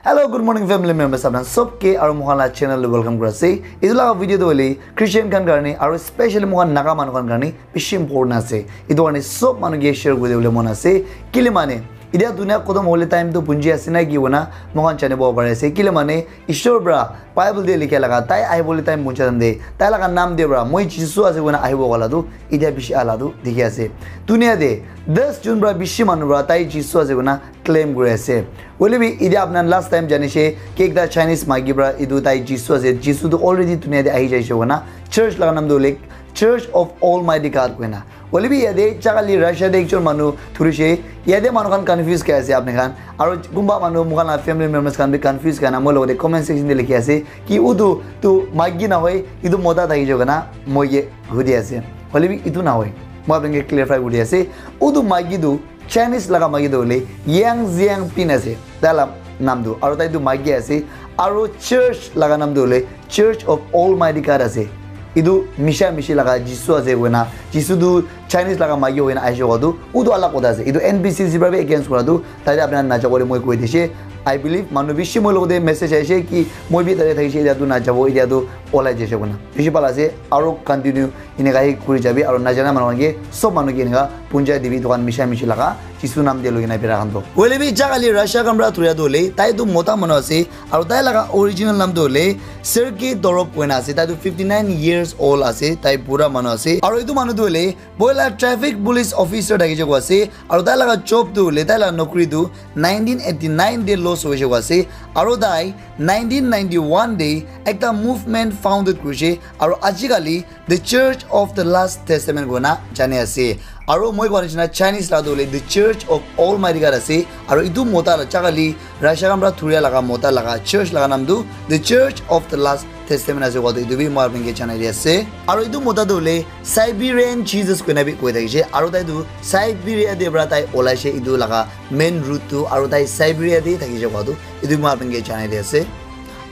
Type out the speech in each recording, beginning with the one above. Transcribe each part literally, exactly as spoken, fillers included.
Hello, good morning, family members. Apna sob ke aru moikhan la channel te welcome kuri ase. Etu laga video tu hoile Christian khan karne aru specially moikhan Naga manu khan karne bishi important ase. Etu karne sob manu ke share kuri dibole mon ase. Kile mane, etia dunia khotom hole time tu punji ase na ki hoina moikhan janibo pari ase. Kile mane, Ishwar pra Bible te likha laga tai ahibole time punja time te tai laga naam te pra moi Jisu ase koina ahibo wala tu etia bishi ala tu dikhi ase. Dunia te das jon pra bishi manu pra tai Jisu ase koina claim kuri ase. Hoile bi etia apna last time jani she ki ekta Chinese maiki pra etu tai Jisu ase, Jisu tu already dunia te ahi jaise koina church laga naam tu hoile Church of Almighty God koina. Hoile bi yate chakali Russia te ekjon manu thurishe, yate manu khan confuse kai ase apni khan. Aru kunba manu moikhan la family members khan bi confuse kai na moi logote comment section te likhi ase ki utu tu maiki na hoi, etu mota thaki jo kana moi ke hudi ase. Hoile bi etu na hoi. Moi apni ke clarify kuri ase. Utu maiki tu Chinese laga maiki tu hoile Yang Xiangbin ase. Tai la naam tu. Aru tai tu maiki ase. Aru church laga naam tu hoile Church of Almighty God ase. Etu misha mishi laga Jisu ase koina, Jisu tu Chinese laga maiki hoina aishe koa tu, utu alak kotha ase. Etu N B C C pra bi against kura tu, tate apna najabo le moi koi dishe. I believe manu bishi moi logote message aishe ki moi bi tate thakishe, etia tu najabo, etia tu olai jaise koina. Bishi bhal ase, aru continue eneka hi kuri jabi, aru najana manu khan ke sob manu ke eneka punjai dibi, etu khan misha mishi laga Jisu naam te loi kena bera khan toh. Hoile bi jaga li Russia khan pra thuria toh hoile, tai toh mota manu ase, aru tai laga original naam toh hoile Sergei Dorov koina ase, tai toh fifty nine years old ase, tai bura manu ase. Aru etu manu toh hoile poila traffic police officer thaki jabo ase, aru tai laga job toh hoile, tai laga nokri toh nineteen eighty nine te loss hoise koa ase, aru tai nineteen ninety one te ekta movement founded kurise, aru ajikali The Church of the Last Testament koina jani ase. Aru moi koa nishina Chinese la tu hoile The Church of Almighty God ase. Aru etu mota la jaga li Russia khan pra thuria laga mota laga church laga naam tu The Church of the Last Testament ase koa tu etu bi moi apni ke janai di ase. Aru etu mota tu hoile Siberian Jesus koina bi koi thakishe. Aru tai tu Siberia te pra tai olaishe etu laga main route tu, aru tai Siberia te thakishe koa tu etu moi apni ke janai di ase.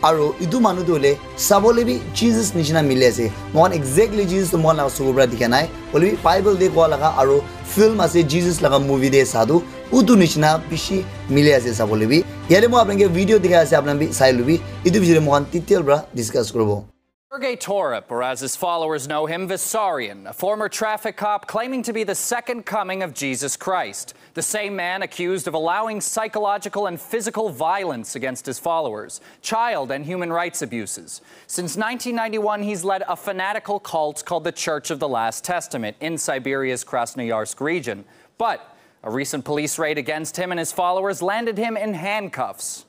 Aru etu manu tu hoile sabole bi Jesus nishina mili ase. Moikhan exactly Jesus tu moikhan laga suku pra dikha nai. Hoile bi Bible te koa laga aru film ase Jesus laga movie te sa tu utu nishina bishi mili ase sabole bi. Yate moi apni ke video dikhai ase, apni bi sai lubi. Etu bishoi te moikhan detail pra discuss kuribo. Sergei Torop, or as his followers know him, Vissarion, a former traffic cop claiming to be the second coming of Jesus Christ. The same man accused of allowing psychological and physical violence against his followers, child and human rights abuses. Since nineteen ninety-one, he's led a fanatical cult called the Church of the Last Testament in Siberia's Krasnoyarsk region. But a recent police raid against him and his followers landed him in handcuffs.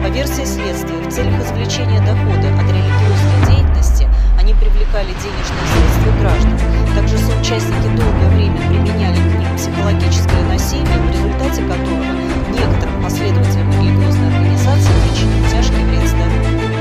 По версии следствия, в целях извлечения дохода от религиозной деятельности они привлекали денежные средства граждан. Также соучастники долгое время применяли к ним психологическое насилие, в результате которого некоторым последователям религиозной организации причинить тяжкий вред здоровью.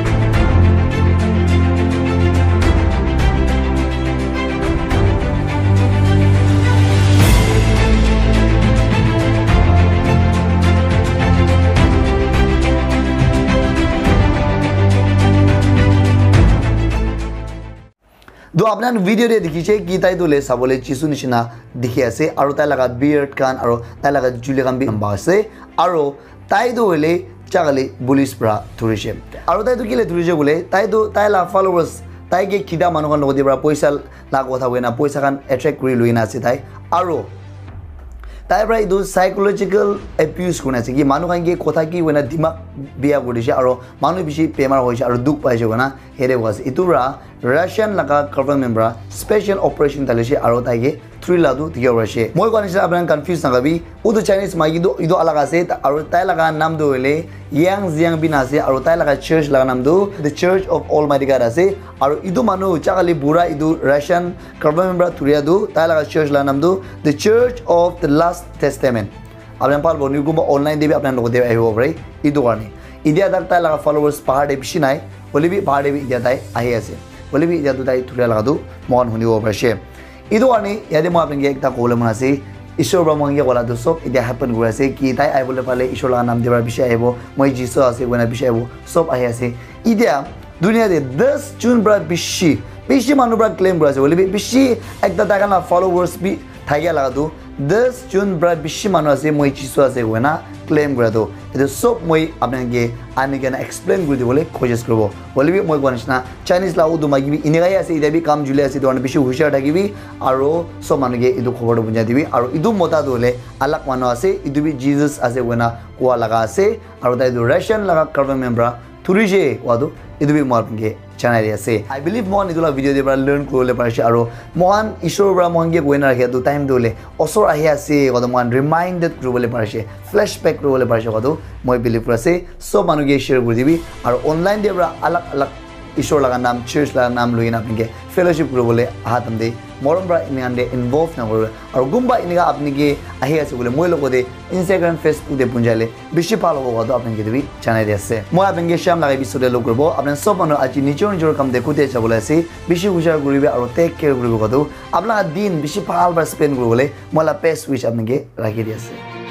To apni khan video te dikhi se ki tai tu hoile sabole Jisu nishina dikhi ase, aru tai laga beard khan aru tai laga chuli khan bi lamba ase, aru tai tu hoile jaga le police pra dhurise. Aru tai tu kile dhurise koile, tai tu tai la followers, tai ke khida manu khan logot te pra poisa la kotha hoina poisa khan attract kuri lui na ase tai. Aru tai pra etu psychological abuse kurina ase ki manu khan ke kotha ki hoina dimag biya kuri dise, aru manu bishi bemar hoise aru dukh paise koina yate koa ase. Etu pra Russian laga government pra special operation dalise aru tai ke dhuri la tu dikhibo pari ase. Moi koa nishina apni khan confuse nakabi, utu Chinese maiki tu etu alag ase, ta-, aru tai laga naam tu hoile Yang Xiangbin ase, aru tai laga church laga naam tu The Church of Almighty God ase, aru etu manu jaga le bura etu Russian government pra dhuria tu tai laga church laga naam tu The Church of the Last Testament. Apni khan pal boni kumba online te bi apni khan logot te ahibo pare. Etu karne. India tak tai laga followers bahar te bishi nai. Hoile bi bahar te bi india tai ahi ase. Hoile bi india tu tai dhuria laga tu moikhan hunibo pari ase. Etu karne yate moi apni ke ekta kobole mon ase. Ishwar para moikhan ke kola tu sob etia happen kuri ase ki tai ahibole pale Ishwar laga naam te para bishi ahibo, moi Jisu ase koina bishi ahibo, sob ahi ase. Etia dunia te das jun para bishi, bishi manu para claim kuri ase, hoile bi bishi ekta tai khan la followers bi thakia laga tu das jun para bishi manu ase moi Jisu ase koina claim kura tu. Etu sob moi apni khan ke ani kena explain kuri dibole koshish kuribo. Hoile bi moi koa nishina Chinese la utu maki bi enika he ase, etia bi kam juli ase, etu karne bishi hushar thakibi, aro sob manu ke etu khobor tu punjai dibi, aro etu mota tu hoile alag manu ase, etu bi Jesus ase koina koa laga ase, aro tai tu Russian laga government para thurishe koa tu etu bi moi apni ke janai di ase. I believe moikhan etu la video te para learn kuribole parishe, aro moikhan Ishwar para moikhan ke koina rakhia tu time tu hoile osor ahi ase koa tu moikhan reminded kuribole parishe, flashback kuribole parishe koa tu moi believe kuri ase. Sob manu ke share kuri dibi, aro online te para alag alag Ishwar laga naam, church laga naam loi kena apni ke fellowship kuribole aha time te morom para enika te involve na kuribi. Aro kunba enika apni ke ahi ase koile moi logote Instagram, Facebook te punjaile bishi bhal hobo koa tu apni ke etu bi janai di ase. Moi apni ke sham lagai episode te log kuribo. Apni sob manu aji nijor nijor kam te kute jabole ase, bishi hushar kuribi aro take care kuribi koa tu apni laga din bishi bhal para spend kuribole moi la best wish apni ke rakhi di ase.